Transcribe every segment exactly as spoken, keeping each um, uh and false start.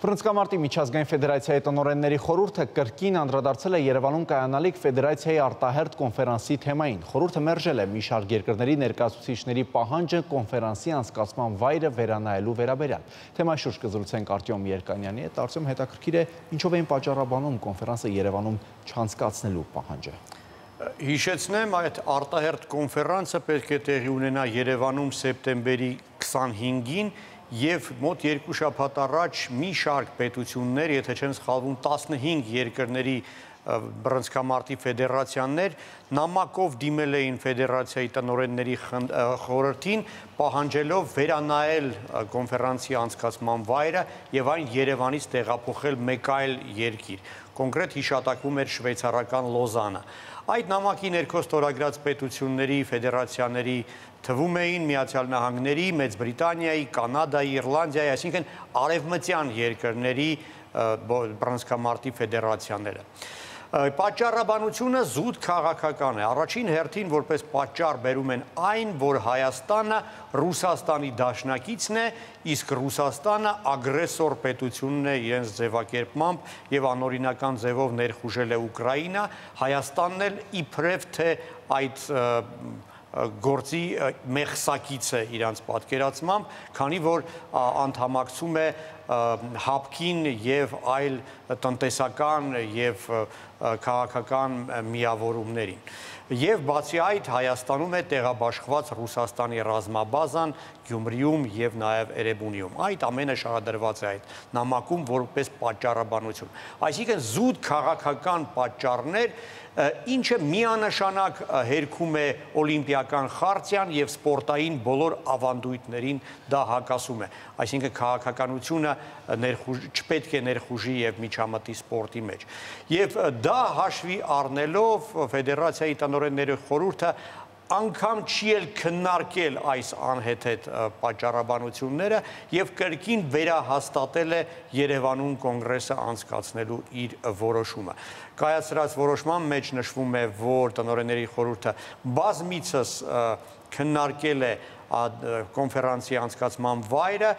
Բռնցքամարտի միջազգային ֆեդերացիայի տնօրենների խորհուրդը կրկին անդրադարձել է Երևանում կայանալիք ֆեդերացիայի արտահերթ կոնֆերանսի թեմային։ Խորհուրդը մերժել է մի շարք երկրների ներկայացուցիչների պահանջը կոնֆերանսի անցկացման վայրը վերանայելու վերաբերյալ։ Թեմայի շուրջ կզրուցենք Արտյոմ Երկանյանի հետ։ Արտյոմ, հետաքրքիր է, ինչով էին պատճառաբանում կոնֆերանսը Երևանում չանցկացնելու պահանջը։ Հիշեցնեմ, այդ արտահերթ կոնֆերանսը պետք է տեղի ունենա Երևանում սեպտեմբերի քսանհինգին և մոտ երկու շաբաթ առաջ մի շարք պետություններ, եթե չեմ սխալվում, տասնհինգ երկրների բռնցքամարտի ֆեդերացիաներ նամակով դիմել էին ֆեդերացիայի տնօրենների խորհրդին, պահանջելով վերանայել կոնֆերանսի անցկացման վայրը և այն Երևանից տեղափոխել մեկ այլ երկիր։ Կոնկրետ հիշատակվում էր շվեյցարական Լոզանը։ Այդ նամակի ներքո ստորագրած պետությունների, ֆեդերացիաների թվում էին Միացյալ Նահանգների, Մեծ Բրիտանիայի, Կանադայի, Իռլանդիայի, այսինքն արևմտյան երկրների բռնցքամարտի ֆեդերացիաները։ Պատճառաբանությունը զուտ քաղաքական է։ Առաջին հերթին որպես պատճառ բերում են այն, որ Հայաստանը Ռուսաստանի դաշնակիցն է, իսկ Ռուսաստանը ագրեսոր պետությունն է իրենց ձևակերպմամբ և անօրինական ձևով ներխուժել է Ուկրաինա, Հայաստանն էլ իբրև թե այդ գործի մեղսակից է իրանց պատկերացմամբ, քանի որ անդամակցում է հապկին և այլ տնտեսական և քաղաքական միավորումներին։ Եվ բացի այդ Հայաստանում է տեղաբաշխված Ռուսաստանի ռազմաբազան Գյումրիում և նաև Էրեբունիում։ Այդ ամենը շարադրված է այդ նամակում որպես պատճառաբանություն։ Այսինքն զուտ քաղաքական պատճառներ, ինչը միանշանակ հերքում է օլիմպիական խարտիան և սպորտային բոլոր ավանդույթներին դա հակասում է։ Այսինքն քաղաքականությունը չպետք է ներխուժի և միջամտի սպորտի մեջ։ Եվ դա հաշվի առնելով ֆեդերացիայի տնօրենների խորհուրդը անգամ չի էլ քննարկել այս անհեթեթ պատճառաբանությունները և կրկին վերահաստատել է Երևանում կոնգրեսը անցկացնելու իր որոշումը։ Կայացրած որոշման մեջ նշվում է, որ տնօրենների խորհուրդը բազմիցս քննարկել է կոնֆերանսի անցկացման վայրը,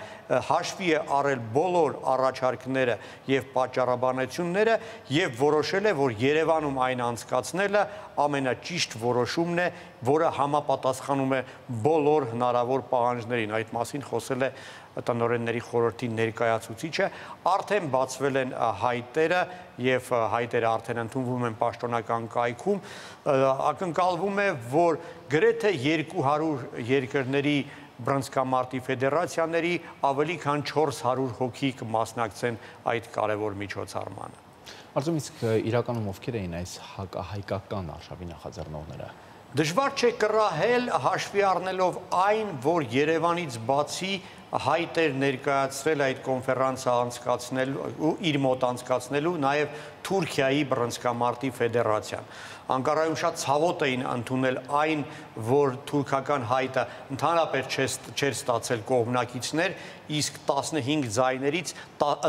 հաշվի է առել բոլոր առաջարկները և պատճառաբանությունները և որոշել է, որ Երևանում այն անցկացնելը ամենաճիշտ որոշումն է, որը համապատասխանում է բոլոր հնարավոր պահանջներին։ Այդ մասին խոսել է տնօրենների խորհրդի ներկայացուցիչը, արդեն բացվել են հայտերը և հայտերը արդեն ընդունվում են պաշտոնական կայքում, ակնկալվում է, որ գրեթե երկու հարյուր երկրների բռնցքամարտի ֆեդերացիաների ավելի քան չորս հարյուր հոգի կմասնակցեն այդ կարևոր միջոցառմանը։ Արտյոմ, իսկ իրականում ովքեր էին այս հակահայկական արշավի նախաձեռնողները։ Դժվար չէ կռահել հաշվի առնելով այն, որ Երևանից բացի հայտ էր ներկայացրել այդ կոնֆերանսը անցկացնելու, իր մոտ անցկացնելու նաև Թուրքիայի բռնցքամարտի ֆեդերացիան։ Անկարայում շատ ցավոտ էին ընդունել այն, որ թուրքական հայտը ընդհանրապես չէր ստացել կողմնակիցներ, իսկ տասնհինգ ձայներից,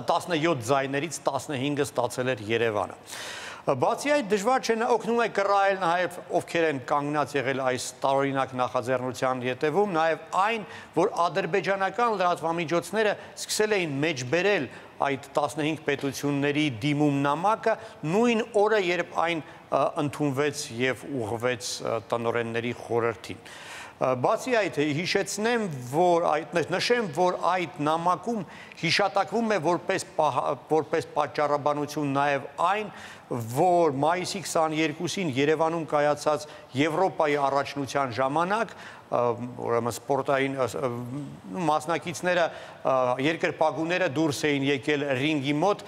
տասնյոթ ձայներից տասնհինգը ստացել էր Երևանը։ Բացի այդ դժվար չէ օգնում է կռահել նաև ովքեր են կանգնած եղել այս տարօրինակ նախաձեռնության ետևում, նաև այն, որ ադրբեջանական լրատվամիջոցները սկսել էին մեջբերել այդ տասնհինգ պետությունների դիմում նամակը նույն օրը, երբ այն ընդունվեց և ուղղվեց տնօրենների խորհրդին։ Բացի այդ հիշեցնեմ, որ նշեմ, որ այդ նամակում հիշատակվում է որպես պատճառաբանություն նաև այն, որ մայիսի քսաներկուսին Երևանում կայացած Եվրոպայի առաջնության ժամանակ ուրեմն սպորտային մասնակիցները, երկրպագուները դուրս էին եկել ռինգի մոտ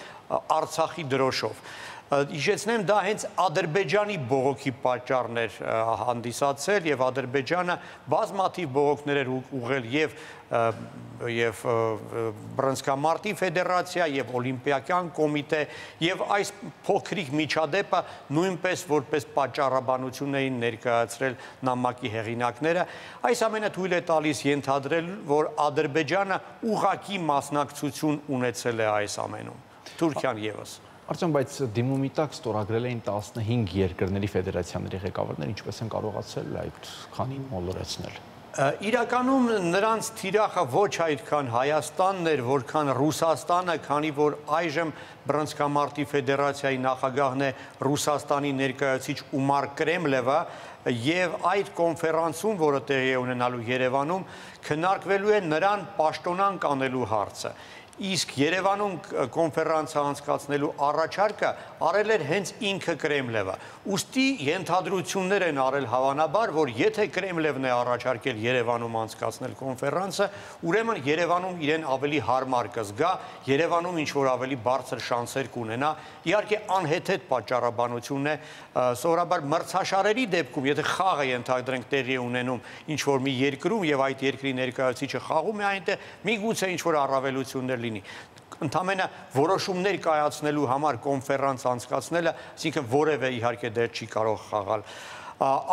Արցախի դրոշով։ Հիշեցնեմ, դա հենց Ադրբեջանի բողոքի պատճառն էր հանդիսացել և Ադրբեջանը բազմաթիվ բողոքներ էր ուղղել և բռնցքամարտի ֆեդերացիա և օլիմպիական կոմիտե և այս փոքրիկ միջադեպը նույնպես որպես պատճառաբանություն էին ներկայացրել նամակի հեղինակները։ Այս ամենը թույլ է տալիս ենթադրել, որ Ադրբեջանը ուղղակի մասնակցություն ունեցել է այս ամենում, Թուրքիան ևս։ Արտյոմ, բայց դիմումի տակ ստորագրել էին տասնհինգ երկրների ֆեդերացիաների ղեկավարներ, ինչպես են կարողացել այդ քանին մոլորեցնել։ Իրականում նրանց թիրախը ոչ այդքան Հայաստանն էր, որքան Ռուսաստանը, քանի որ այժմ Բռնցքամարտի ֆեդերացիայի նախագահն է Ռուսաստանի ներկայացուցիչ Ումար Կրեմլևը, եւ այդ կոնֆերանսում, որը տեղի է ունենալու Երևանում, քննարկվելու է նրան պաշտոնանկ անելու հարցը։ Իսկ Երևանում կոնֆերանսը անցկացնելու առաջարկը արել էր հենց ինքը Կրեմլևը։ Ուստի ենթադրություններ են արել հավանաբար, որ եթե Կրեմլևն է առաջարկել Երևանում անցկացնել կոնֆերանսը, ուրեմն Երևանում իրեն ավելի հարմար կզգա, Երևանում ինչ-որ ավելի բարձր շանսեր կունենա։ Իհարկե անհեթեթ պատճառաբանություն է, սովորաբար մրցաշարերի դեպքում, եթե խաղը ենթադրենք տեղի ունենում ինչ-որ մի երկրում եւ այդ երկրի ներկայացուցիչը խաղում է այնտեղ, միգուցե ինչ-որ առավելություններ լինի։ Ընդամենը որոշումներ կայացնելու համար կոնֆերանս անցկացնելը, այսինքն որևէ իհարկե դեր չի կարող խաղալ։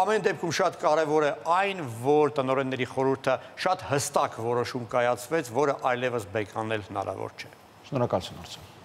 Ամեն դեպքում շատ կարևոր է այն, որ տնօրենների խորհուրդը շատ հստակ որոշում կայացվեց, որը այլևս բեկանել հնարավոր չէ։ Շնորհակալություն, Արսեն։